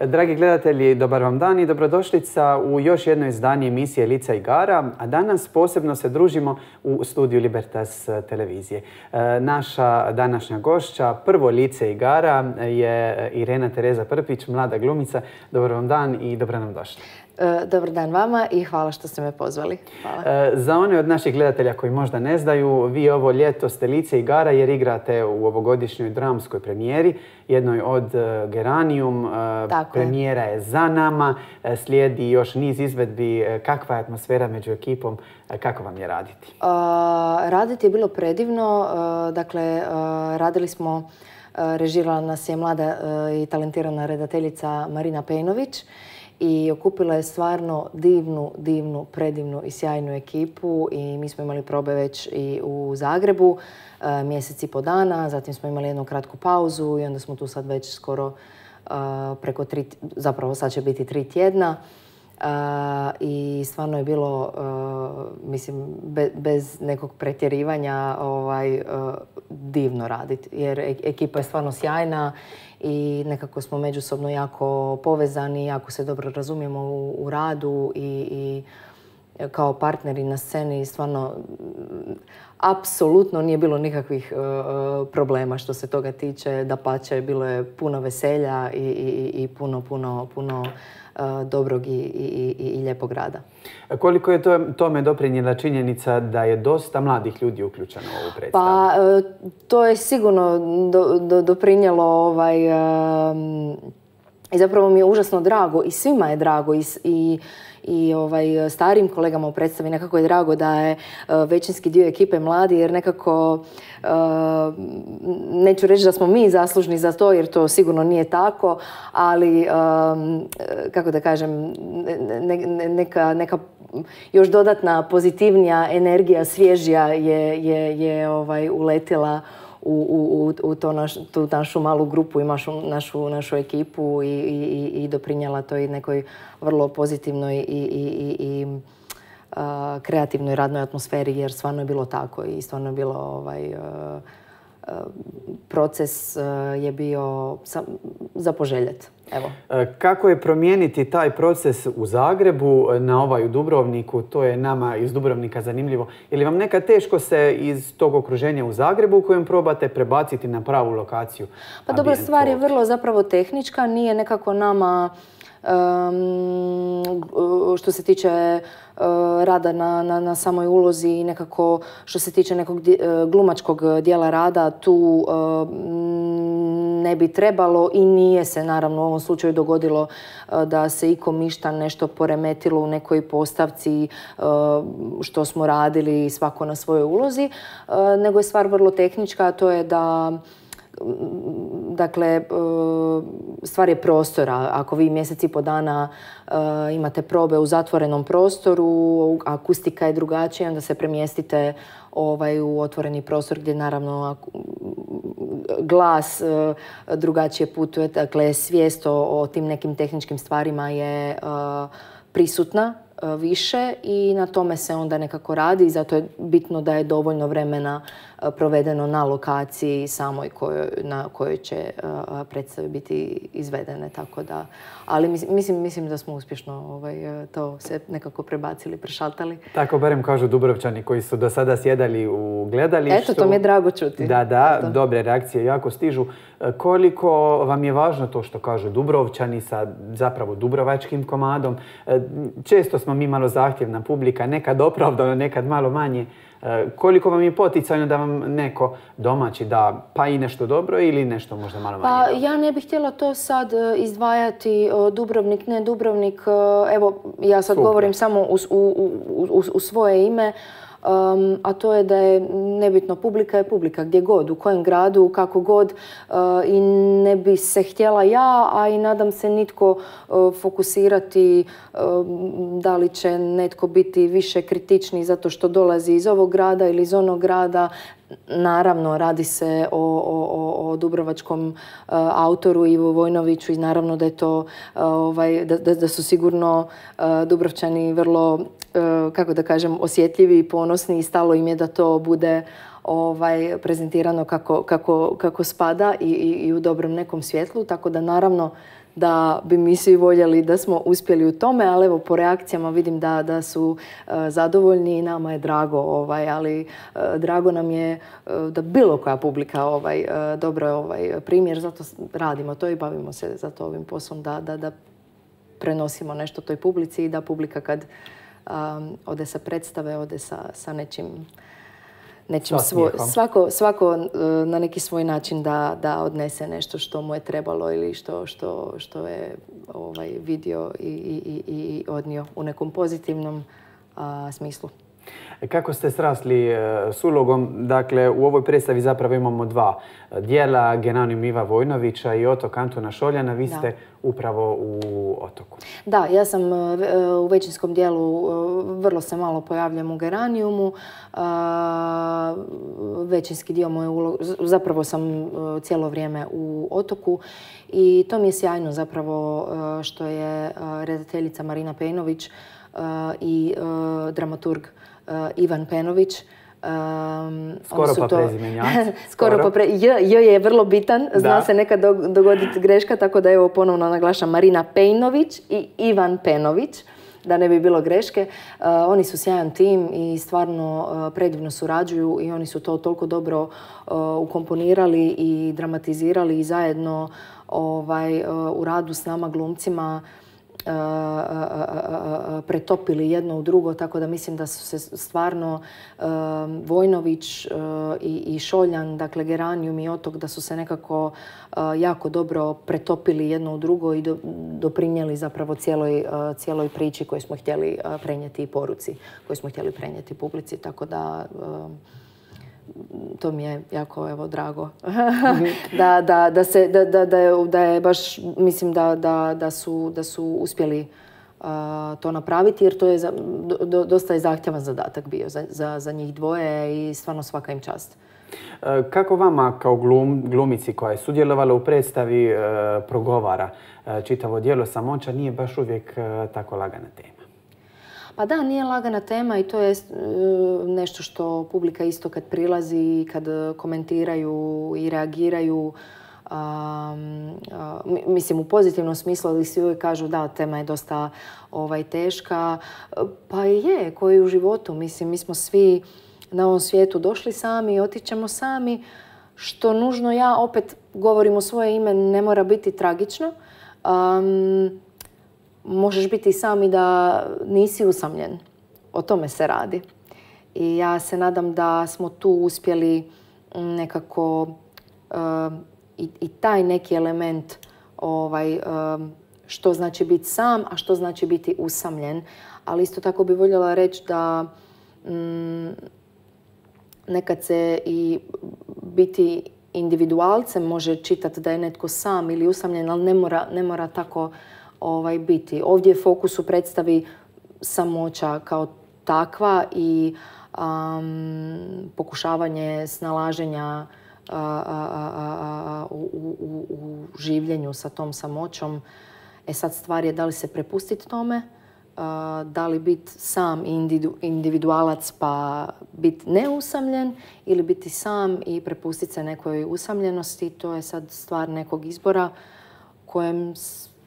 Dragi gledatelji, dobar vam dan i dobrodošlica u još jedno izdanje emisije Lica igara, a danas posebno se družimo u studiju Libertas televizije. Naša današnja gošća, prvo lice igara, je Irena Tereza Prpić, mlada glumica. Dobar vam dan i dobro nam došli. Dobar dan vama i hvala što ste me pozvali. Hvala. Za one od naših gledatelja koji možda ne znaju, vi ovo ljeto ste lice igara jer igrate u ovogodišnjoj dramskoj premijeri, jednoj od Geranium. Premijera je za nama, slijedi još niz izvedbi. Kakva je atmosfera među ekipom? Kako vam je raditi? Raditi je bilo predivno. Dakle, radili smo, režirala nas je mlada i talentirana redateljica Marina Pejnović. I okupila je stvarno divnu, predivnu i sjajnu ekipu i mi smo imali probe već i u Zagrebu mjesec i po dana, zatim smo imali jednu kratku pauzu i onda smo tu sad već skoro preko zapravo sad će biti 3 tjedna. I stvarno je bilo, mislim, bez nekog pretjerivanja divno raditi jer ekipa je stvarno sjajna i nekako smo međusobno jako povezani, jako se dobro razumijemo u radu i kao partneri na sceni stvarno apsolutno nije bilo nikakvih problema što se toga tiče. Dapače, bilo je puno veselja i puno dobrog i lijepog rada. Koliko je tome doprinijela činjenica da je dosta mladih ljudi uključeno u ovu predstavu? Pa, to je sigurno doprinijelo i zapravo mi je užasno drago i svima je drago i starijim kolegama u predstavi nekako je drago da je većinski dio ekipe mladi jer nekako neću reći da smo mi zaslužni za to jer to sigurno nije tako, ali kako da kažem, neka još dodatna pozitivnija energija, svježija je uletila u tu našu malu grupu i našu ekipu i doprinijela toj nekoj vrlo pozitivnoj i kreativnoj radnoj atmosferi jer stvarno je bilo tako i stvarno je bilo proces je bio za poželjet. Evo. Kako je promijeniti taj proces u Zagrebu na u Dubrovniku? To je nama iz Dubrovnika zanimljivo. Je li vam nekad teško se iz tog okruženja u Zagrebu u kojem probate prebaciti na pravu lokaciju? Pa dobra stvar je vrlo zapravo tehnička. Nije nekako nama što se tiče rada na samoj ulozi i nekako što se tiče nekog glumačkog dijela rada tu ne bi trebalo i nije se naravno u ovom slučaju dogodilo da se ikom išta nešto poremetilo u nekoj postavci što smo radili svako na svojoj ulozi, nego je stvar vrlo tehnička, a to je da dakle, stvar je prostora. Ako vi mjesec i po dana imate probe u zatvorenom prostoru, akustika je drugačija, onda se premjestite u otvoreni prostor gdje naravno glas drugačije putuje. Dakle, svijest o tim nekim tehničkim stvarima je prisutna više i na tome se onda nekako radi i zato je bitno da je dovoljno vremena provedeno na lokaciji samoj na kojoj će predstave biti izvedene. Tako da, ali mislim da smo uspješno to se nekako prebacili, prešaltali. Tako barem kažu Dubrovčani koji su do sada sjedali u gledalištu. Eto, to mi je drago čuti. Da, dobre reakcije jako stižu. Koliko vam je važno to što kažu Dubrovčani sa zapravo dubrovačkim komadom? Često smo mi malo zahtjevna publika, nekad opravdano, nekad malo manje. Koliko vam je poticajno da vam neko domaći da pa i nešto dobro ili nešto možda malo manje dobro? Pa ja ne bih htjela to sad izdvajati Dubrovnik, ne Dubrovnik. Evo, ja sad govorim samo u svoje ime. A to je da je nebitno, publika je publika gdje god, u kojem gradu, kako god i ne bi se htjela ja, a i nadam se nitko fokusirati da li će netko biti više kritični zato što dolazi iz ovog grada ili iz onog grada. Naravno, radi se o dubrovačkom autoru Ivu Vojnoviću i naravno da je to, da su sigurno Dubrovčani vrlo, kako da kažem, osjetljivi i ponosni i stalo im je da to bude prezentirano kako spada i u dobrom nekom svjetlu. Tako da naravno da bi mi svi voljeli da smo uspjeli u tome, ali evo po reakcijama vidim da su zadovoljni i nama je drago, ali drago nam je da bilo koja publika dobro primjer, zato radimo to i bavimo se zato ovim poslom da prenosimo nešto toj publici i da publika kad ode sa predstave, ode sa nečim svako na neki svoj način da odnese nešto što mu je trebalo ili što je vidio i odnio u nekom pozitivnom smislu. Kako ste srasli s ulogom? Dakle, u ovoj predstavi zapravo imamo dva dijela, Geranijum Iva Vojnovića i Otok Antuna Šoljana. Vi ste upravo u Otoku. Da, ja sam u većinskom dijelu, vrlo se malo pojavljam u Geranijumu. Većinski dio moje uloge, zapravo sam cijelo vrijeme u Otoku i to mi je sjajno zapravo što je redateljica Marina Pejnović i dramaturg Ivan Penović. Skoro pa prezimenjaci. J je vrlo bitan, zna se nekad dogoditi greška, tako da evo ponovno naglašam Marina Pejnović i Ivan Penović, da ne bi bilo greške. Oni su sjajan tim i stvarno predivno surađuju i oni su to toliko dobro ukomponirali i dramatizirali i zajedno u radu s nama glumcima pretopili jedno u drugo, tako da mislim da su se stvarno Vojnović i Šoljan, dakle Geranijum i Otok, da su se nekako jako dobro pretopili jedno u drugo i doprinijeli zapravo cijeloj priči koju smo htjeli prenijeti i poruci koju smo htjeli prenijeti publici, tako da to mi je jako drago da je baš, mislim da su uspjeli to napraviti jer to je dosta zahtjevan zadatak bio za njih dvoje i stvarno svaka im čast. Kako vama kao glumici koja je sudjelovala u predstavi progovara čitavo djelo Samoća? Nije baš uvijek tako lagana tema. Pa da, nije lagana tema i to je nešto što publika isto kad prilazi i kad komentiraju i reagiraju, mislim u pozitivnom smislu, ali svi uvijek kažu da, tema je dosta teška. Pa je, koji u životu. Mislim, mi smo svi na ovom svijetu došli sami i otićemo sami, što nužno ja opet govorim u svoje ime, ne mora biti tragično. Možeš biti sam i da nisi usamljen. O tome se radi. I ja se nadam da smo tu uspjeli nekako i taj neki element što znači biti sam, a što znači biti usamljen. Ali isto tako bi voljela reći da nekad se i biti individualcem može čitati da je netko sam ili usamljen, ali ne mora tako biti. Ovdje je fokus u predstavi samoća kao takva i pokušavanje snalaženja u življenju sa tom samoćom. Sad stvar je da li se prepustiti tome, da li biti sam individualac pa biti neusamljen ili biti sam i prepustiti se nekoj usamljenosti. To je sad stvar nekog izbora kojem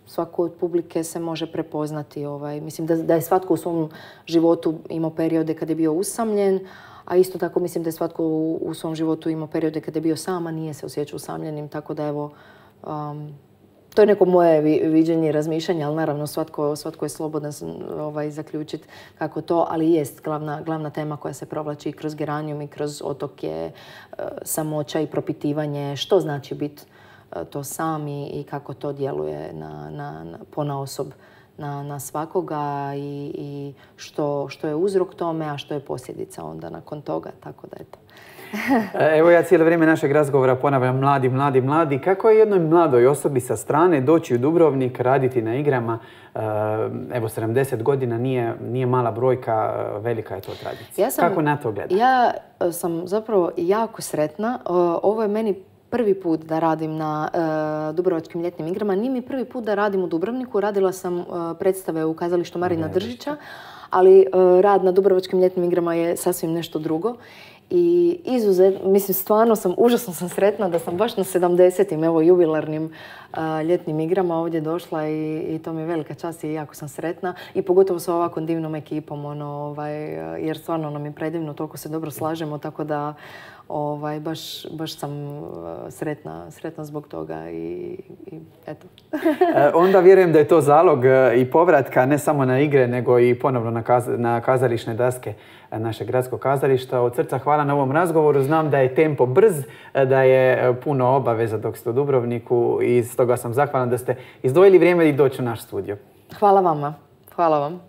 svako od publike se može prepoznati. Mislim da je svatko u svom životu imao periode kad je bio usamljen, a isto tako mislim da je svatko u svom životu imao periode kad je bio sam, a nije se osjećao usamljenim. Tako da evo, to je neko moje viđenje i razmišljanje, ali naravno svatko je slobodan zaključiti kako to, ali jest glavna tema koja se provlači kroz Geranijum i kroz Otok je samoća i propitivanje što znači biti to sami i kako to djeluje ponaosob na svakoga i što je uzrok tome, a što je posljedica onda nakon toga. Tako da je to. Evo ja cijelo vrijeme našeg razgovora ponavljam mladi. Kako je jednoj mladoj osobi sa strane doći u Dubrovnik, raditi na igrama? Evo 70 godina nije mala brojka, velika je to tradicija. Kako na to gledate? Ja sam zapravo jako sretna. Ovo je meni prvi put da radim na Dubrovačkim ljetnim igrama. Nije mi prvi put da radim u Dubrovniku. Radila sam predstave u kazalištu Marina Držića, ali rad na Dubrovačkim ljetnim igrama je sasvim nešto drugo. I izuzetno, mislim, stvarno užasno sam sretna da sam baš na 70. evo jubilarnim ljetnim igrama ovdje došla i to mi je velika čast i jako sam sretna. I pogotovo sa ovakvom divnom ekipom, jer stvarno nam je predivno, toliko se dobro slažemo, tako da baš sam sretna zbog toga i eto. Onda vjerujem da je to zalog i povratka ne samo na igre, nego i ponovno na kazališne daske našeg gradskog kazališta. Od srca hvala na ovom razgovoru. Znam da je tempo brz, da je puno obaveza dok ste u Dubrovniku i stoga sam zahvalan da ste izdvojili vrijeme i doći u naš studio. Hvala vama. Hvala vam.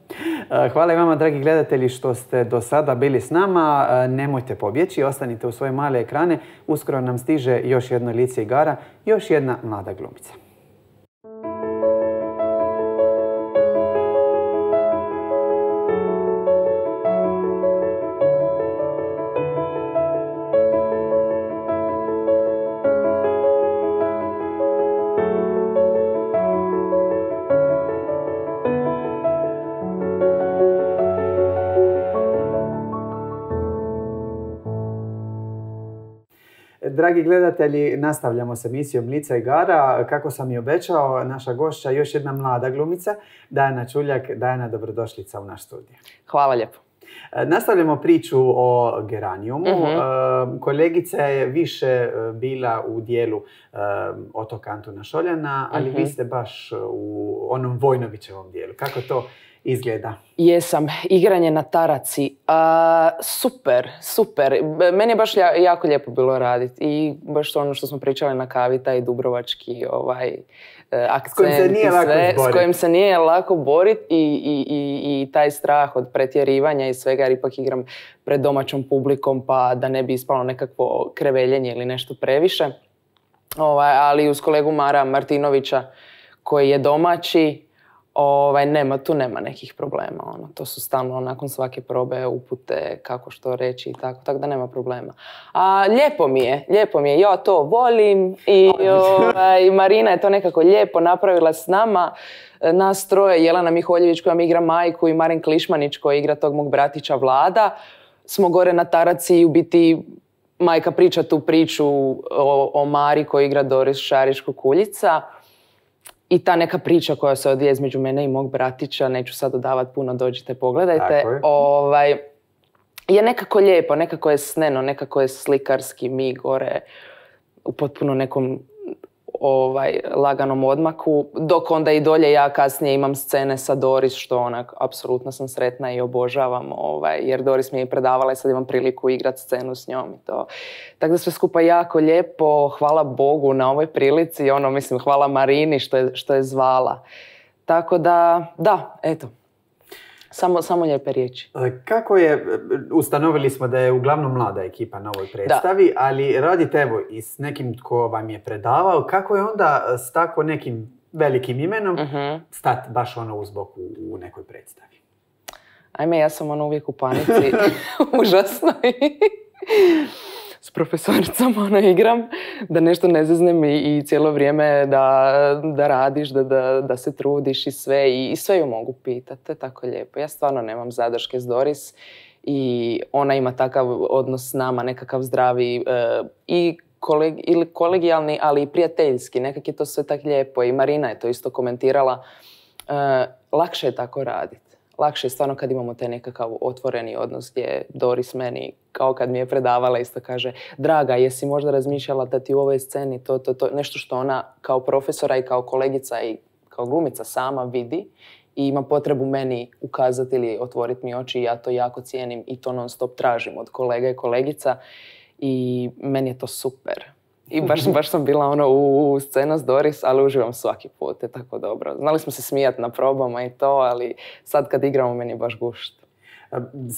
Hvala i vama, dragi gledatelji, što ste do sada bili s nama. Nemojte pobjeći, ostanite u svoje male ekrane. Uskoro nam stiže još jedno lice igara, još jedna mlada glumica. Dragi gledatelji, nastavljamo s emisijom Lica igara. Kako sam i obećao, naša gošća još jedna mlada glumica, Dajana Čuljak. Dajana, dobrodošlica u naš studio. Hvala lijepo. Nastavljamo priču o geranijumu. Kolegica je više bila u dijelu otoka Antuna Šoljana, ali vi ste baš u onom Vojnovićevom dijelu. Kako to izgleda? Jesam. Igranje na taraci. Super. Meni je baš jako lijepo bilo raditi. I baš ono što smo pričali na kavi, taj dubrovački akcent s kojim se nije lako boriti i taj strah od pretjerivanja i svega, jer ipak igram pred domaćom publikom pa da ne bi ispalo nekakvo kreveljenje ili nešto previše. Ali uz kolegu Mara Martinovića koji je domaći, tu nema nekih problema. To su stalno nakon svake probe upute kako što reći i tako da nema problema. A lijepo mi je, ja to volim i Marina je to nekako lijepo napravila s nama. Nas troje, Jelena Miholjević koja mi igra majku i Marin Klišmanić koji igra tog mog bratića Vlada, smo gore na taraci i u biti majka priča tu priču o Mari koji igra Doris Šarić-Kukuljica. I ta neka priča koja se odvija između mene i mog bratića, neću sad dodavati puno, dođite, pogledajte, je nekako lijepo, nekako je sneno, nekako je slikarski, mi gore u potpuno nekom laganom odmaku, dok onda i dolje ja kasnije imam scene sa Doris, što onak, apsolutno sam sretna i obožavam, jer Doris mi je predavala i sad imam priliku igrati scenu s njom i to. Tako da sve skupa jako lijepo, hvala Bogu na ovoj prilici, hvala Marini što je zvala. Tako da, eto. Samo lijepe riječi. Kako je, ustanovili smo da je uglavnom mlada ekipa na ovoj predstavi, ali radite evo i s nekim tko vam je predavao, kako je onda s tako nekim velikim imenom stati baš uz bok u nekoj predstavi? Ajme, ja sam uvijek u panici, užasno s profesoricom igram, da nešto ne zeznem i cijelo vrijeme da radiš, da se trudiš i sve. I sve ju mogu pitati, to je tako lijepo. Ja stvarno nemam zadrške s Doris i ona ima takav odnos s nama, nekakav zdravi i kolegijalni, ali i prijateljski. Nekak je to sve tako lijepo i Marina je to isto komentirala. Lakše je tako raditi. Lakše je stvarno kad imamo taj nekakav otvoreni odnos gdje Doris meni, kao kad mi je predavala, isto kaže: draga, jesi možda razmišljala da ti u ovoj sceni to, nešto što ona kao profesora i kao kolegica i kao glumica sama vidi i ima potrebu meni ukazati ili otvoriti mi oči i ja to jako cijenim i to non stop tražim od kolega i kolegica i meni je to super. I baš sam bila u scena s Doris, ali uživam svaki put, je tako dobro. Znali smo se smijati na probama i to, ali sad kad igramo meni je baš gušt.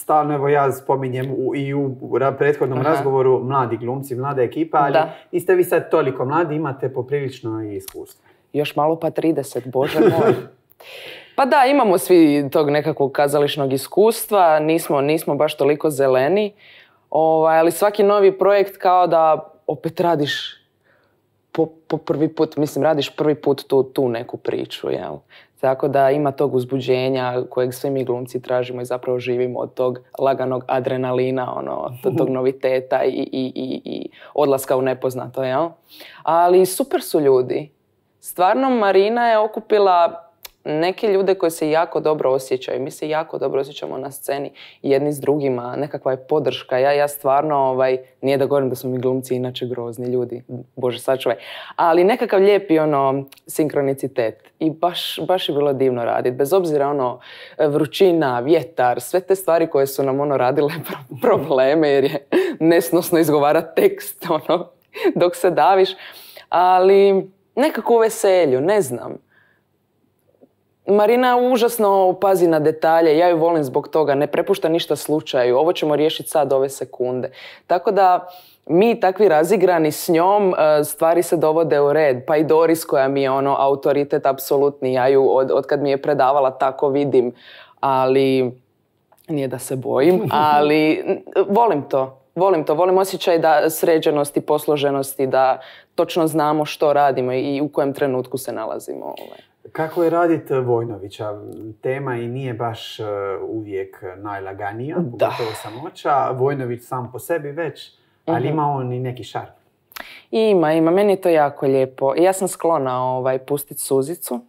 Stalno, evo ja spominjem i u prethodnom razgovoru mladi glumci, mlada ekipa, ali niste vi sad toliko mladi, imate poprilično i iskustvo. Još malo pa 30, bože moj. Pa da, imamo svi tog nekakvog kazališnog iskustva, nismo baš toliko zeleni, ali svaki novi projekt kao da opet radiš po prvi put, radiš prvi put tu neku priču, jel? Tako da ima tog uzbuđenja kojeg svi mi glumci tražimo i zapravo živimo od tog laganog adrenalina, tog noviteta i odlaska u nepoznato, jel? Ali super su ljudi. Stvarno Marina je okupila neke ljude koji se jako dobro osjećaju. Mi se jako dobro osjećamo na sceni jedni s drugima. Nekakva je podrška. Ja stvarno, nije da govorim da smo mi glumci inače grozni ljudi. Bože, sačuvaj. Ali nekakav lijepi sinkronicitet. I baš je bilo divno raditi. Bez obzira vrućina, vjetar, sve te stvari koje su nam radile probleme jer je nesnosno izgovarati tekst dok se daviš. Ali nekako u veselju, ne znam. Marina užasno pazi na detalje, ja ju volim zbog toga, ne prepušta ništa slučaju, ovo ćemo riješiti sad ove sekunde. Tako da mi takvi razigrani s njom, stvari se dovode u red. Pa i Doris koja mi je autoritet apsolutni, ja ju od kad mi je predavala tako vidim, ali nije da se bojim, ali volim osjećaj da sređenosti, posloženosti, da točno znamo što radimo i u kojem trenutku se nalazimo. Kako je raditi Vojnovića? Tema i nije baš uvijek najlaganija, pogotovo samoća. Vojnović sam po sebi već, ali ima on i neki šarm. Ima. Meni je to jako lijepo. Ja sam sklona pustiti suzicu.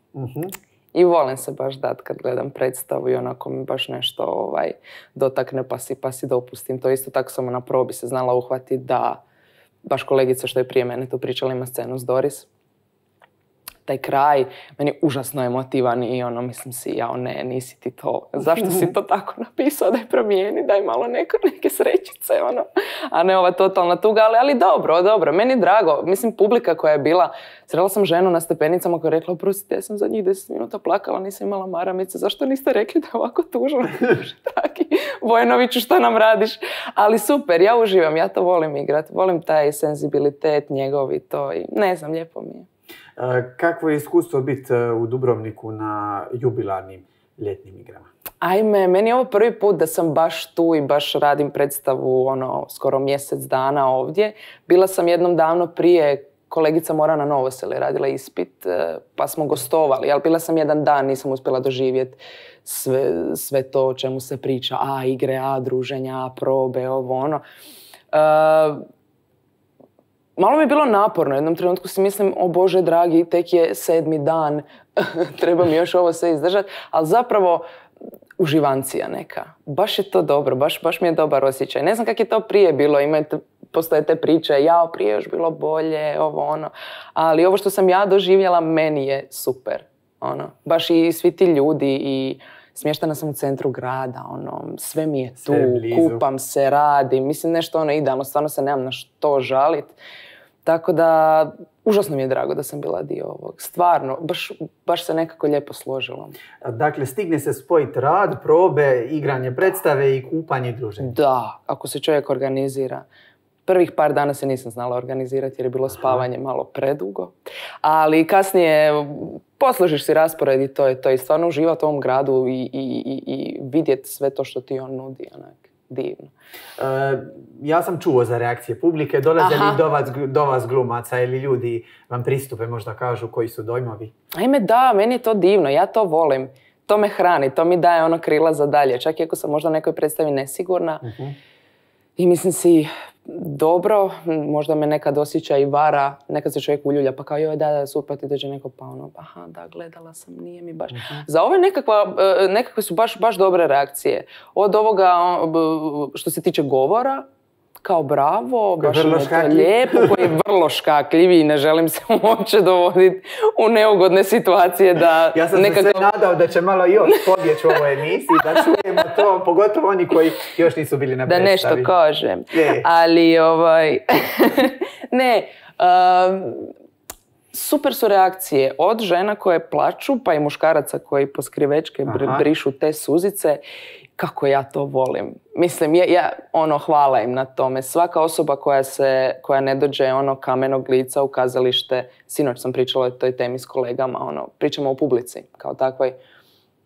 I volim se baš dati kad gledam predstavu i onako mi baš nešto dotakne pa si dopustim. To isto tako sam na probi se znala uhvatiti da baš kolegica što je prije mene tu pričala ima scenu s Doris. Taj kraj, meni je užasno emotivan i mislim si, ne, nisi ti to, zašto si to tako napisao, daj promijeni, daj malo neke srećice, a ne ova totalna tuga, ali dobro, meni je drago, mislim publika koja je bila, srela sam ženu na stepenicama koja je rekla, oprostite, ja sam za njih 10 minuta plakala, nisam imala maramice, zašto niste rekli da je ovako tužno, taki, Vojnoviću, šta nam radiš, ali super, ja uživam, ja to volim igrati, volim taj senzibilitet njegov i to, i ne znam, lijepo mi je. Kakvo je iskustvo biti u Dubrovniku na jubilarnim ljetnim igrama? Ajme, meni je ovo prvi put da sam baš tu i baš radim predstavu skoro mjesec dana ovdje. Bila sam jednom davno prije, kolegica Morana Novosel je radila ispit, pa smo gostovali, ali bila sam jedan dan, nisam uspjela doživjeti sve to o čemu se priča. Igre, druženja, probe, Malo mi je bilo naporno, u jednom trenutku si mislim, o Bože dragi, tek je 7. dan, treba mi još ovo sve izdržati, ali zapravo uživancija neka. Baš je to dobro, baš mi je dobar osjećaj. Ne znam kak je to prije bilo, postoje te priče, prije još bilo bolje, ali ovo što sam ja doživjela, meni je super. Baš i svi ti ljudi i smještena sam u centru grada, sve mi je tu, kupam se, radim, mislim nešto idealno, stvarno se nemam na što žalit. Tako da, užasno mi je drago da sam bila dio ovog. Stvarno, baš se nekako lijepo složilo. Dakle, stigne se spojiti rad, probe, igranje predstave i kupanje i druženje. Da, ako se čovjek organizira. Prvih par dana se nisam znala organizirati jer je bilo spavanje malo predugo. Ali kasnije posložiš si raspored i to je to. I stvarno uživati u ovom gradu i vidjeti sve to što ti on nudi. Divno. Ja sam čuo za reakcije publike. Dolaze li do vas glumaca ili ljudi vam pristupe, možda kažu koji su dojmovi? Ajme da, meni je to divno. Ja to volim. To me hrani, to mi daje krila za dalje. Čak i ako sam možda nekoj predstavi nesigurna. I mislim si, dobro, možda me nekad osjeća i vara, nekad se čovjek uljulja, pa kao joj da super ti dođe neko pa da, gledala sam, nije mi baš. Za ove nekakve su baš dobre reakcije. Od ovoga što se tiče govora, kao bravo, baš mi je to lijepo, koji je vrlo škakljiv i ne želim se uopće dovoditi u neugodne situacije da... Ja sam se sve nadao da će malo još pobjeći u ovoj emisiji, da čujemo to, pogotovo oni koji još nisu bili na predstavi. Da nešto kažem, ali ne, super su reakcije od žena koje plaču, pa i muškaraca koji po skrivečke brišu te suzice. Kako ja to volim. Mislim, hvala im na tome. Svaka osoba koja ne dođe kamenog lica u kazalište, sinoć sam pričala o toj temi s kolegama, pričamo o publici kao takvoj,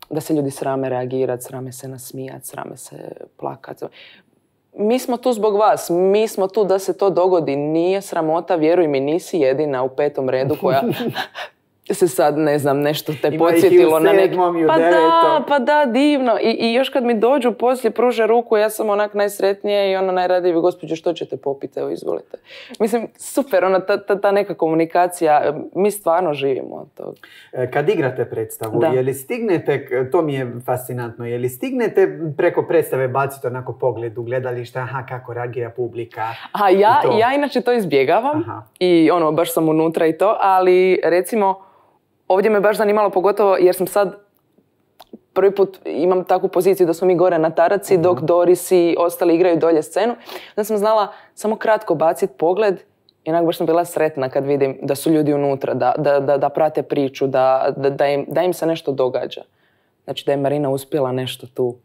da se ljudi srame reagirati, srame se nasmijati, srame se plakati. Mi smo tu zbog vas, mi smo tu da se to dogodi. Nije sramota, vjeruj mi, nisi jedina u 5. redu koja se sad, ne znam, nešto te podsjetilo na neki... Pa da, divno. I još kad mi dođu poslije, pruže ruku, ja sam onak najsretnija i ona najradije, gospođo, što ćete popiti, evo izvolite. Mislim, super, ta neka komunikacija, mi stvarno živimo od toga. Kad igrate predstavu, je li stignete, to mi je fascinantno, je li stignete preko predstave baciti onako pogled u gledalište, kako reagira publika? Ja inače to izbjegavam i baš sam unutra i to, ali recimo ovdje me baš zanimalo pogotovo jer sam sad prvi put imam takvu poziciju da smo mi gore na taraci dok Doris i ostali igraju dolje scenu. Onda sam znala samo kratko baciti pogled i onak baš sam bila sretna kad vidim da su ljudi unutra, da prate priču, da im se nešto događa. Znači da je Marina uspjela nešto tu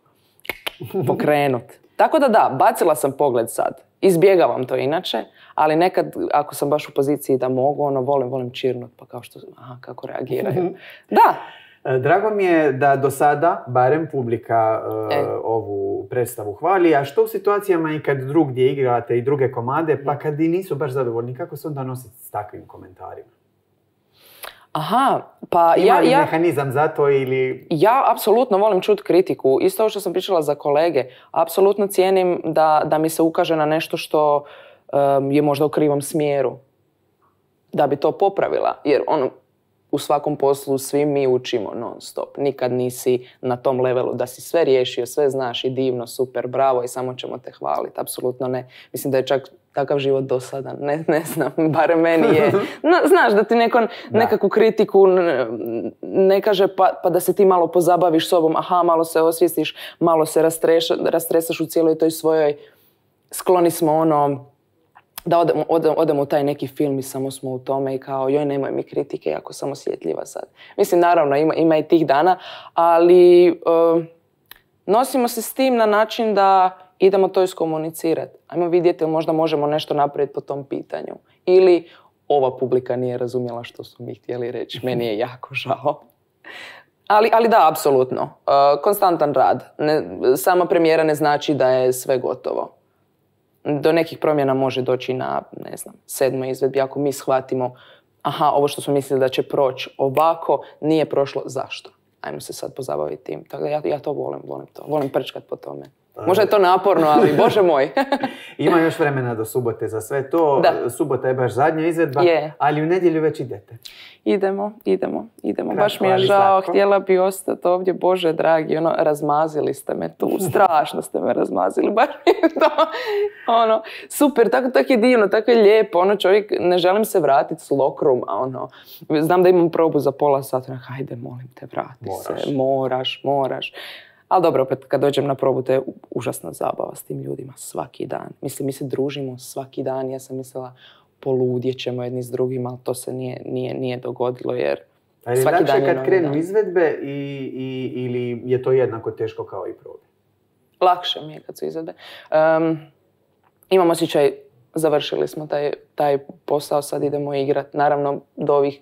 pokrenuti. Tako da, bacila sam pogled sad. Izbjegavam to inače, ali nekad ako sam baš u poziciji da mogu, volim čirnut, pa kao što, kako reagiraju. Da! Drago mi je da do sada, barem publika ovu predstavu hvali, a što u situacijama i kad drugdje igrate i druge komade, pa kad i nisu baš zadovoljni, kako se onda nositi s takvim komentarima? Pa ima li mehanizam za to ili... Ja apsolutno volim čuti kritiku. Isto što sam pričala za kolege. Apsolutno cijenim da mi se ukaže na nešto što je možda u krivom smjeru. Da bi to popravila. Jer u svakom poslu svi mi učimo non stop. Nikad nisi na tom levelu da si sve riješio, sve znaš i divno, super, bravo i samo ćemo te hvaliti. Apsolutno ne. Mislim da je čak takav život dosadan. Ne znam, barem meni je. Znaš da ti nekakvu kritiku ne kaže pa da se ti malo pozabaviš sobom, malo se osvijestiš, malo se rastresaš u cijeloj toj svojoj, skloni smo da odemo u taj neki film i samo smo u tome i kao joj nemoj mi kritike, jako sam osjetljiva sad. Mislim, naravno ima i tih dana, ali nosimo se s tim na način da idemo to iskomunicirati. Ajmo vidjeti ili možda možemo nešto napraviti po tom pitanju. Ili ova publika nije razumjela što su mi htjeli reći. Meni je jako žao. Ali da, apsolutno. Konstantan rad. Sama premijera ne znači da je sve gotovo. Do nekih promjena može doći na, 7. izvedbi. Ako mi shvatimo, ovo što smo mislili da će proći ovako, nije prošlo, zašto? Ajmo se sad pozabaviti tim. Tako da ja to volim to. Volim prčkat po tome. Možda je to naporno, ali bože moj. Ima još vremena do subote za sve to. Da. Subota je baš zadnja izvedba, ali u nedjelju već idete. Idemo. Baš mi je žao, htjela bi ostati ovdje, bože dragi, razmazili ste me tu, strašno ste me razmazili, baš mi je to, super, tako je divno, tako je lijepo, čovjek, ne želim se vratiti s lokruma, znam da imam probu za pola sata, hajde, molim te, vrati se, moraš. Ali dobro, opet kad dođem na probu, to je užasna zabava s tim ljudima svaki dan. Mislim, mi se družimo svaki dan. Ja sam mislila, poludjet ćemo jedni s drugima, ali to se nije dogodilo jer svaki dan je novi dan. Ali lakše kad krenu izvedbe ili je to jednako teško kao i probe? Lakše mi je kad su izvedbe. Imam osjećaj, završili smo taj posao, sad idemo igrati. Naravno, do ovih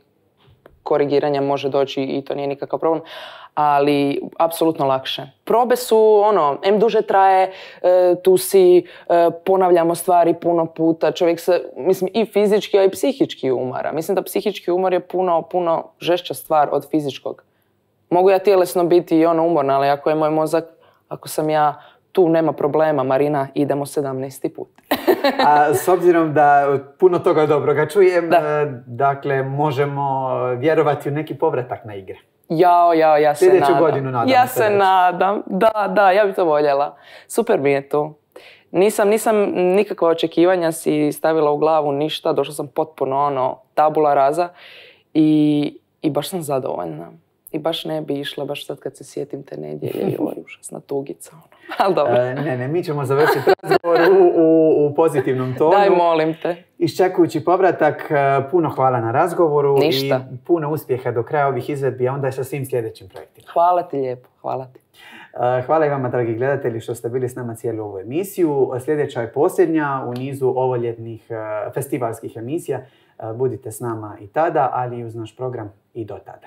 korigiranja može doći i to nije nikakav problem, ali apsolutno lakše. Probe su, duže traje, tu si, ponavljamo stvari puno puta, čovjek se, mislim, i fizički, a i psihički umara. Mislim da psihički umor je puno žešća stvar od fizičkog. Mogu ja tjelesno biti i umorna, ali ako je moj mozak, ako sam ja tu, nema problema, Marina, idemo 17. put. A s obzirom da puno toga dobroga čujem, dakle, možemo vjerovati u neki povratak na igre. Ja se Sljedeću godinu nadam. Ja se nadam. Da, ja bih to voljela. Super mi je to. Nisam nikakva očekivanja si stavila u glavu ništa. Došla sam potpuno tabula rasa i baš sam zadovoljna. I baš ne bi išla, baš sad kad se sjetim te nedjelje, užasna tugica. Ali dobro. Ne, mi ćemo završiti razgovor u pozitivnom tonu. Daj, molim te. Iščekujući povratak, puno hvala na razgovoru. Ništa. I puno uspjeha do kraja ovih izvedbi, a onda sa svim sljedećim projektima. Hvala ti lijepo, hvala ti. Hvala i vama, dragi gledatelji, što ste bili s nama cijelu ovu emisiju. Sljedeća je posljednja u nizu ovoljetnih festivalskih emisija. Budite s nama i tada, ali i uz naš program i do tada.